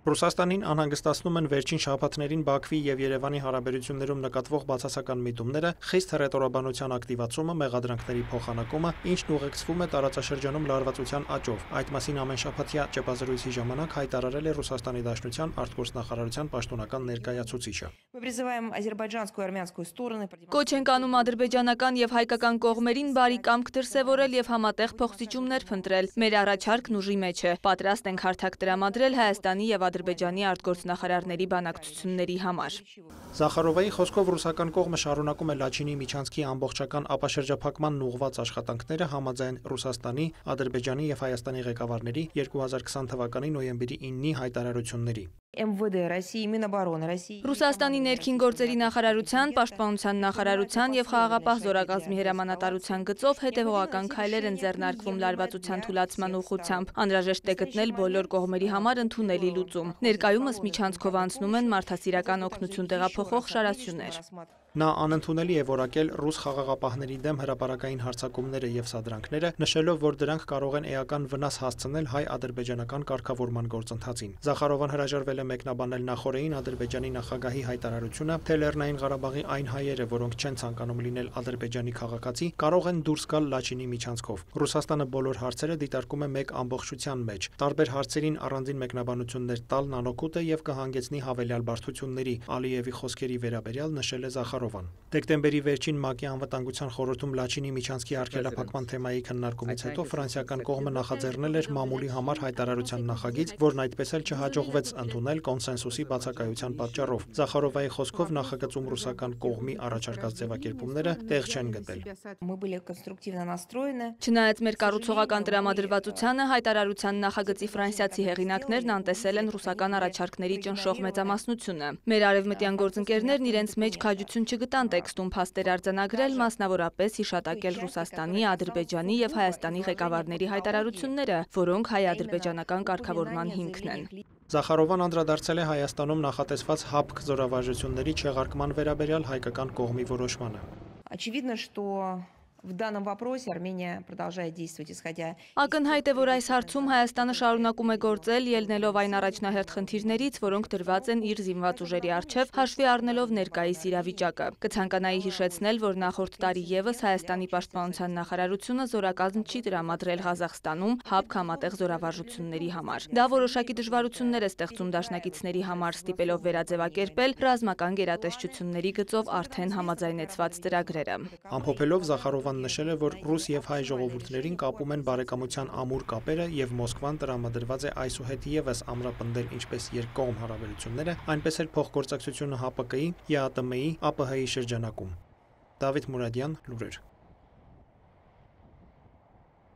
Ռուսաստանին անհանգստացնում են վերջին շաբաթներին Բաքվի եւ Երևանի հարաբերություններում նկատվող բացասական միտումները, խիստ հռետորաբանության ակտիվացումը, մեղադրանքների փոխանակումը, ինչն ուղեկցվում է տարածաշրջանում լարվածության աճով։ Այդ մասին ամենշաբաթյա ճեպազրույցի ժամանակ հայտարարել է Ռուսաստանի Դաշնության արտգործնախարարության պաշտոնական ներկայացուցիչը։ Կոչ ենք անում ադրբեջանական եւ հայկական կողմերին բարի կամք դրսեւորել եւ համատեղ փոխզիջումներ փնտրել։ Մեր առաջարկն ուժի մեջ է։ Պատրաստ ենք հարթակ տրամադրել Հայաստանի եւ Ադրբեջանի արտգործնախարարների բանակցությունների համար։ Զախարովայի խոսքով ռուսական կողմը շարունակում է Լաչինի միջանցքի ամբողջական ապաշրջափակման ուղղված աշխատանքները համաձայն Ռուսաստանի, Ադրբեջանի եւ Հայաստանի ղեկավարների 2020 թվականի նոյեմբերի 9-ի հայտարարությունների։ Ռուսաստանի ներքին գործերի նախարարության, պաշտպանության նախարարության եւ խաղաղապահ զորակազմի հրամանատարության գծով հետեւողական քայլեր են ձեռնարկվում լարվածության թուլացման ուղղությամբ։ Անհրաժեշտ է գտնել բոլոր կողմերի համար ընդունելի լուծում։ Ներկայումս միջանցքով անցնում են մարդասիրական օգնություն տեղափոխող շարասյուներ։ Նա անընդունելի է որակել ռուս խաղաղապահների դեմ հրապարակային հարձակումները եւ սադրանքները, նշելով, որ դրանք կարող են էական վնաս հասցնել հայ-ադրբեջանական կարգավորման գործընթացին։ Զախարովան հրաժարվել է մեկնաբանել նախորդին Ադրբեջանի նախագահի հայտարարությունը, թե Լեռնային Ղարաբաղի այն հայերը, որոնք չեն ցանկանում լինել Ադրբեջանի քաղաքացի, կարող են դուրս գալ Լաչինի միջանցքով։ Ռուսաստանը բոլոր հարցերը դիտարկում է մեկ ամբողջության մեջ, տարբեր հարցերին առանձին մեկնաբանություններ տալն անօգուտ է եւ կհանգեցնի հավելյալ բարդությունների, Ալիևի խոսքերի վերաբերյալ նշել է Զախարովան։ Դեկտեմբերի վերջին ՄԱԿ-ի անվտանգության խորհրդում Լաչինի միջանցքի արգելափակման թեմայի քննարկումից հետո ֆրանսիական կողմը նախաձեռնել էր մամուլի համար հայտարարության նախագիծ, որն այդպես էլ չհաջողվեց ընդունել կոնսենսուսի բացակայության պատճառով։ Զախարովայի խոսքով նախագծում ռուսական կողմի առաջարկած ձևակերպումները տեղ չեն գտել։ Չնայած մեր կառուցողական տրամադրվածությանը, հայտարարության նախագծի ֆրանսիացի հեղինակներն անտեսել են ռուսական առաջարկների ճնշող մեծամասնությունը։ Մեր արևմտյան գործընկերներն իրենց մեջ քաջություն չգտան տեքստում փաստեր արձանագրել, մասնավորապես հիշատակել Ռուսաստանի, Ադրբեջանի եւ Հայաստանի ղեկավարների հայտարարությունները, որոնք հայ-ադրբեջանական կարգավորման հիմքն են։ Զախարովան անդրադարձել է Հայաստանում նախատեսված ՀԱՊԿ զորավարժությունների չեղարկման վերաբերյալ հայկական կողմի որոշմանը։ Ակնհայտ է, որ այս հարցում Հայաստանը շարունակում է գործել, ելնելով այն առաջնահերթ խնդիրներից, որոնք դրված են իր զինված ուժերի առջև, հաշվի առնելով ներկայիս իրավիճակը։ Կցանկանայի հիշեցնել, որ նախորդ տարի եւս Հայաստանի պաշտպանության նախարարությունը զորակազմ չի տրամադրել Ղազախստանում ՀԱՊԿ համատեղ զորավարժությունների համար։ Դա որոշակի դժվարություններ է ստեղծում դաշնակիցների համար, ստիպելով վերաձևակերպել ռազմական գերատեսչությունների գծով արդեն համաձայնեցված ծրագրերը։ Ամփոփելով Զախարովան նշել է, որ ռուս եւ հայ ժողովուրդներին կապում են բարեկամության ամուր կապերը եւ Մոսկվան տրամադրված է այսուհետ եւս ամրապնդել ինչպես երկկողմ հարաբերությունները, այնպես էլ փոխգործակցությունը ՀԱՊԿ-ի, ԵԱՏՄ-ի, ԱՊՀ-ի շրջանակում։ Դավիթ Մուրադյան, լուրեր։